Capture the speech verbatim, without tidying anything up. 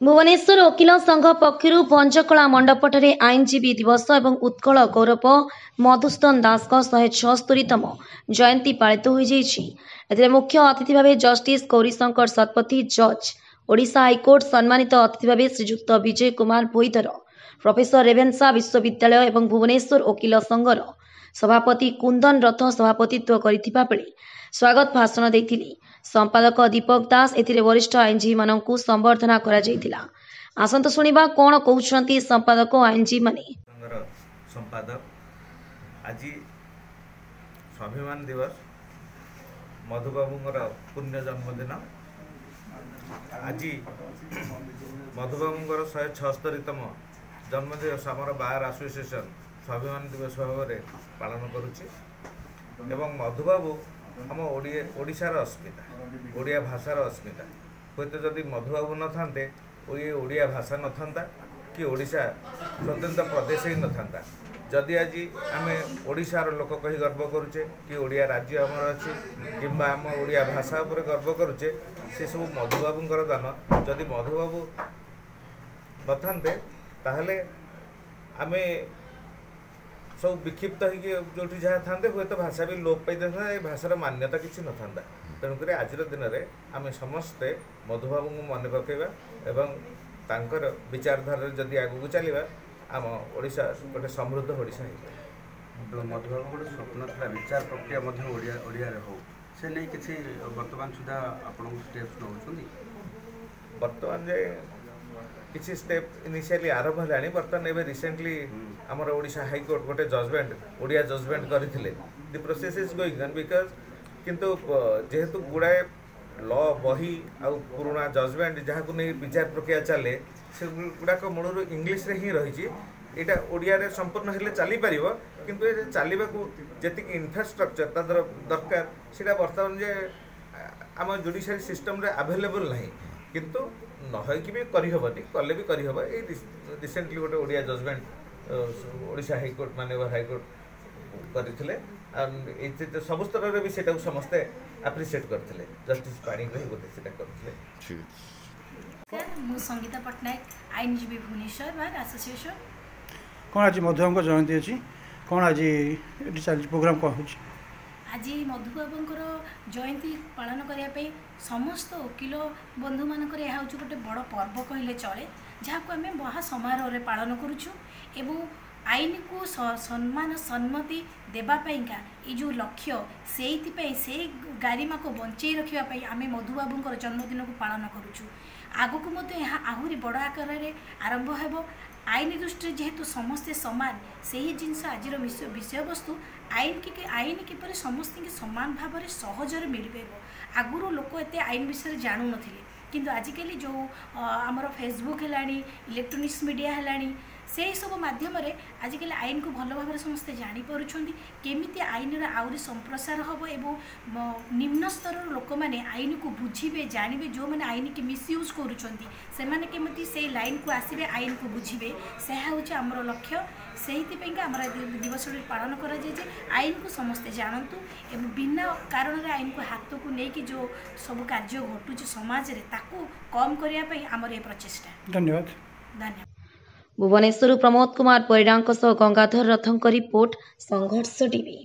ଭୁବନେଶ୍ୱର ଓକିଲ ସଂଘ ପକ୍ଷରୁ ଭଞ୍ଜକଳା ମଣ୍ଡପଠାରେ ଆଇନଜୀବୀ ଦିବସ ଏବଂ ଉତ୍କଳ ଗୌରବ ମଧୁସୂଦନ ଦାସଙ୍କ ଶହେ ଛଅସ୍ତରୀତମ ଜୟନ୍ତୀ ପାଳିତ ହୋଇଯାଇଛି। ଏଥିରେ ମୁଖ୍ୟ ଅତିଥି ଭାବେ ଜଷ୍ଟିସ୍ ଗୌରୀଶଙ୍କର ଶତପଥୀ, ଜଜ୍, ଓଡ଼ିଶା ହାଇକୋର୍ଟ, ସମ୍ମାନିତ ଅତିଥି ଭାବେ ଶ୍ରୀଯୁକ୍ତ ବିଜୟ କୁମାର ଭୋଇଧର, ପ୍ରଫେସର, ରେଭେନ୍ସା ବିଶ୍ୱବିଦ୍ୟାଳୟ ଏବଂ ଭୁବନେଶ୍ୱର ଓକିଲ ସଂଘର ସଭାପତି କୁନ୍ଦନ ରଥ ସଭାପତିତ୍ୱ କରିଥିବା ବେଳେ ସ୍ୱାଗତ ଭାଷଣ ଦେଇଥିଲେ ସମ୍ପାଦକ ଦୀପକ ଦାସ। ଏଥିରେ ବରିଷ୍ଠ ଆଇନଜୀବୀମାନଙ୍କୁ ସମ୍ବର୍ଦ୍ଧନା କରାଯାଇଥିଲା। ଆସନ୍ତୁ ଶୁଣିବା କ'ଣ କହୁଛନ୍ତି ସମ୍ପାଦକ ଆଇନଜୀବୀମାନେ। ସଂଘର ସମ୍ପାଦକ। ଆଜି ସ୍ୱାଭିମାନ ଦିବସ, ମଧୁବାବୁଙ୍କର ପୁଣ୍ୟ ଜନ୍ମଦିନ। ଆଜି ମଧୁବାବୁଙ୍କର ଶହେ ଛଅସ୍ତରୀତମ ଜନ୍ମଦିବସ ଆମର ବାର୍ ଆସୋସିଏସନ୍ ସ୍ୱାଭିମାନ ଦିବସ ଭାବରେ ପାଳନ କରୁଛି। ଏବଂ ମଧୁବାବୁ ଆମ ଓଡ଼ିଆ ଓଡ଼ିଶାର ଅସ୍ମିତା, ଓଡ଼ିଆ ଭାଷାର ଅସ୍ମିତା। ହୁଏତ ଯଦି ମଧୁବାବୁ ନଥାନ୍ତେ, ଏ ଓଡ଼ିଆ ଭାଷା ନଥାନ୍ତା କି ଓଡ଼ିଶା ସ୍ୱତନ୍ତ୍ର ପ୍ରଦେଶ ହିଁ ନଥାନ୍ତା। ଯଦି ଆଜି ଆମେ ଓଡ଼ିଶାର ଲୋକ କହି ଗର୍ବ କରୁଛେ କି ଓଡ଼ିଆ ରାଜ୍ୟ ଆମର ଅଛି କିମ୍ବା ଆମ ଓଡ଼ିଆ ଭାଷା ଉପରେ ଗର୍ବ କରୁଛେ, ସେସବୁ ମଧୁବାବୁଙ୍କର ଦାନ। ଯଦି ମଧୁବାବୁ ନଥାନ୍ତେ, ତାହେଲେ ଆମେ ସବୁ ବିକ୍ଷିପ୍ତ ହେଇକି ଯେଉଁଠି ଯାହା ଥାନ୍ତେ, ହୁଏତ ଭାଷା ବି ଲୋପ ପାଇଥାନ୍ତା, ଏ ଭାଷାର ମାନ୍ୟତା କିଛି ନଥାନ୍ତା। ତେଣୁକରି ଆଜିର ଦିନରେ ଆମେ ସମସ୍ତେ ମଧୁବାବୁଙ୍କୁ ମନେ ପକାଇବା ଏବଂ ତାଙ୍କର ବିଚାରଧାରାରେ ଯଦି ଆଗକୁ ଚାଲିବା, ଆମ ଓଡ଼ିଶା ଗୋଟେ ସମୃଦ୍ଧ ଓଡ଼ିଶା ହେଇପାରିବ। ମଧୁବାବୁ ଗୋଟେ ସ୍ୱପ୍ନ ଥିଲା, ବିଚାର ପ୍ରକ୍ରିୟା ମଧ୍ୟ ଓଡ଼ିଆ ଓଡ଼ିଆରେ ହଉ। ସେ ନେଇ କିଛି ବର୍ତ୍ତମାନ ସୁଦ୍ଧା ଆପଣଙ୍କୁ ଷ୍ଟେପ୍ସ ନେଉଛନ୍ତି? ବର୍ତ୍ତମାନ ଯେ କିଛି ଷ୍ଟେପ୍ ଇନିସିଆଲି ଆରମ୍ଭ ହେଲାଣି। ବର୍ତ୍ତମାନ ଏବେ ରିସେଣ୍ଟଲି ଆମର ଓଡ଼ିଶା ହାଇକୋର୍ଟ ଗୋଟେ ଜଜମେଣ୍ଟ, ଓଡ଼ିଆ ଜଜମେଣ୍ଟ କରିଥିଲେ। The process is going on because କିନ୍ତୁ ଯେହେତୁ ଗୁଡ଼ାଏ ଲ ବହି ଆଉ ପୁରୁଣା ଜଜମେଣ୍ଟ ଯାହାକୁ ନେଇ ବିଚାର ପ୍ରକ୍ରିୟା ଚାଲେ, ସେଗୁଡ଼ାକ ମୂଳରୁ ଇଂଲିଶରେ ହିଁ ରହିଛି। ଏଇଟା ଓଡ଼ିଆରେ ସମ୍ପୂର୍ଣ୍ଣ ହେଲେ ଚାଲିପାରିବ, କିନ୍ତୁ ଏ ଚାଲିବାକୁ ଯେତିକି ଇନଫ୍ରାଷ୍ଟ୍ରକ୍ଚର ତା ଦରକାର, ସେଇଟା ବର୍ତ୍ତମାନ ଯେ ଆମ ଜୁଡ଼ିସିଆରୀ ସିଷ୍ଟମରେ ଆଭେଲେବଲ୍ ନାହିଁ। କିନ୍ତୁ ନ ହେଇକି ବି କରିହେବନି, କଲେ ବି କରିହେବ। ଏଇ ରିସେଣ୍ଟଲି ଗୋଟେ ଓଡ଼ିଆ ଜଜମେଣ୍ଟ ଓଡ଼ିଶା ହାଇକୋର୍ଟ, ମାନ୍ୟବର ହାଇକୋର୍ଟ କରିଥିଲେ। ଆଉ ଏଇ ସବୁ ସ୍ତରରେ ବି ସେଇଟାକୁ ସମସ୍ତେ ଆପ୍ରିସିଏଟ୍ କରିଥିଲେ। ଜଷ୍ଟିସ୍ ପାଣିଗ୍ରାହୀ ବୋଧେ ସେଇଟା କରିଥିଲେ। ମୁଁ ସଙ୍ଗୀତା ପଟ୍ଟନାୟକ, ଆଇନଜୀବୀ, ଭୁବନେଶ୍ୱର ବାର୍ ଆସୋସିଏସନ୍। କ'ଣ ଆଜି ମଧୁବାବୁଙ୍କ ଜୟନ୍ତୀ ଅଛି, କ'ଣ ଆଜି ଏଠି ଚାଲିଛି ପ୍ରୋଗ୍ରାମ୍, କ'ଣ ହେଉଛି? ଆଜି ମଧୁବାବୁଙ୍କର ଜୟନ୍ତୀ ପାଳନ କରିବା ପାଇଁ ସମସ୍ତ ଓକିଲ ବନ୍ଧୁମାନଙ୍କର ଏହା ହେଉଛି ଗୋଟେ ବଡ଼ ପର୍ବ କହିଲେ ଚଳେ, ଯାହାକୁ ଆମେ ମହା ସମାରୋହରେ ପାଳନ କରୁଛୁ। ଏବଂ ଆଇନକୁ ସମ୍ମାନ ସମ୍ମତି ଦେବା ପାଇଁକା ଏଇ ଯେଉଁ ଲକ୍ଷ୍ୟ, ସେଇଥିପାଇଁ ସେଇ ଗାରିମାକୁ ବଞ୍ଚେଇ ରଖିବା ପାଇଁ ଆମେ ମଧୁବାବୁଙ୍କର ଜନ୍ମଦିନକୁ ପାଳନ କରୁଛୁ। ଆଗକୁ ମଧ୍ୟ ଏହା ଆହୁରି ବଡ଼ ଆକାରରେ ଆରମ୍ଭ ହେବ। ଆଇନ ଦୃଷ୍ଟିରେ ଯେହେତୁ ସମସ୍ତେ ସମାନ, ସେହି ଜିନିଷ ଆଜିର ବିଷୟବସ୍ତୁ। ଆଇନ କି ଆଇନ କିପରି ସମସ୍ତଙ୍କୁ ସମାନ ଭାବରେ ସହଜରେ ମିଳିପାରିବ। ଆଗରୁ ଲୋକ ଏତେ ଆଇନ ବିଷୟରେ ଜାଣୁନଥିଲେ, କିନ୍ତୁ ଆଜିକାଲି ଯେଉଁ ଆମର ଫେସବୁକ୍ ହେଲାଣି, ଇଲେକ୍ଟ୍ରୋନିକ୍ସ ମିଡ଼ିଆ ହେଲାଣି, ସେଇ ସବୁ ମାଧ୍ୟମରେ ଆଜିକାଲି ଆଇନକୁ ଭଲ ଭାବରେ ସମସ୍ତେ ଜାଣିପାରୁଛନ୍ତି। କେମିତି ଆଇନର ଆହୁରି ସମ୍ପ୍ରସାର ହେବ ଏବଂ ନିମ୍ନ ସ୍ତରର ଲୋକମାନେ ଆଇନକୁ ବୁଝିବେ, ଜାଣିବେ, ଯେଉଁମାନେ ଆଇନକି ମିସୟୁଜ୍ କରୁଛନ୍ତି ସେମାନେ କେମିତି ସେଇ ଲାଇନକୁ ଆସିବେ, ଆଇନକୁ ବୁଝିବେ, ସେହା ହେଉଛି ଆମର ଲକ୍ଷ୍ୟ। ସେଇଥିପାଇଁକା ଆମର ଦିବସଟି ପାଳନ କରାଯାଏ ଯେ ଆଇନକୁ ସମସ୍ତେ ଜାଣନ୍ତୁ ଏବଂ ବିନା କାରଣରେ ଆଇନକୁ ହାତକୁ ନେଇକି ଯେଉଁ ସବୁ କାର୍ଯ୍ୟ ଘଟୁଛି ସମାଜରେ, ତାକୁ କମ୍ କରିବା ପାଇଁ ଆମର ଏ ପ୍ରଚେଷ୍ଟା। ଧନ୍ୟବାଦ। ଧନ୍ୟବାଦ। ଭୁବନେଶ୍ୱରରୁ ପ୍ରମୋଦ କୁମାର ପରିଡ଼ାଙ୍କ ସହ ଗଙ୍ଗାଧର ରଥଙ୍କ ରିପୋର୍ଟ, ସଂଘର୍ଷ ଟିଭି।